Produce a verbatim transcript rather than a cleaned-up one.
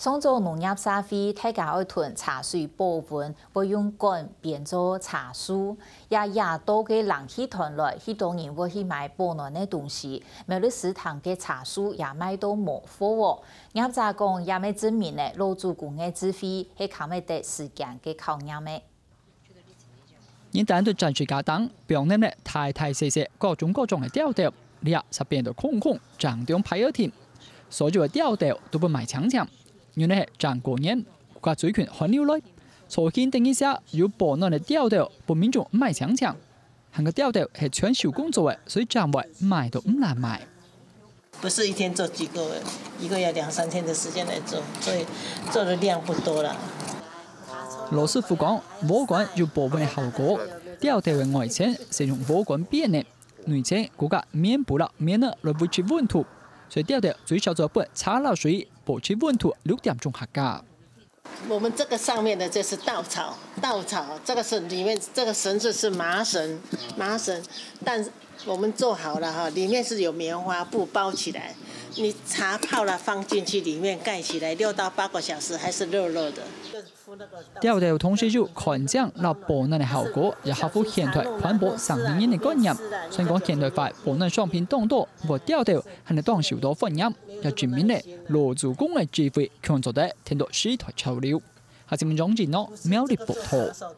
上早農業社會大家愛囤茶水保溫，會用管編做茶樹。這野道个冷氣團來，許多人會去買保暖个東西，苗栗市場个茶樹也賣到無貨哦。業者講，也乜證明呢，老祖公个智慧係堪得得時間个考驗个。 人擔到棧水架頂，放等了大大細細、各種各種个吊兜，這煞變到空空，正中排仔定。所有个吊兜都分賣淨淨，原來係正過年，國家最近寒流來，所以等一下有保暖个吊兜，分民眾賣淨淨。還過吊兜係全手工做个，所以正會賣到毋難賣。 不是一天做幾個，一個要兩三天的時間來做，所以做的量不多啦。羅師傅講，禾稈有保溫个效果，吊兜个外層係用禾稈編个，內層加个棉布啦、棉仔來維持溫度，所以吊兜最少做分茶落水，保持溫度六點鐘下降。 我們這個上面的這是稻草，稻草，這個是裡面這個繩子是麻繩，麻繩，但我們做好了哈，裡面是有棉花布包起來，你茶泡了放進去裡面蓋起來，六到八個小時還是熱熱的。吊兜同時有乾淨摎保暖个效果，也合乎現代環保省能源个觀念。雖然講現代化保暖商品當多，毋過吊兜還係當受到歡迎，也證明了老祖公个智慧，共樣做得跈到時代潮流。 下新聞張志諾苗栗報導。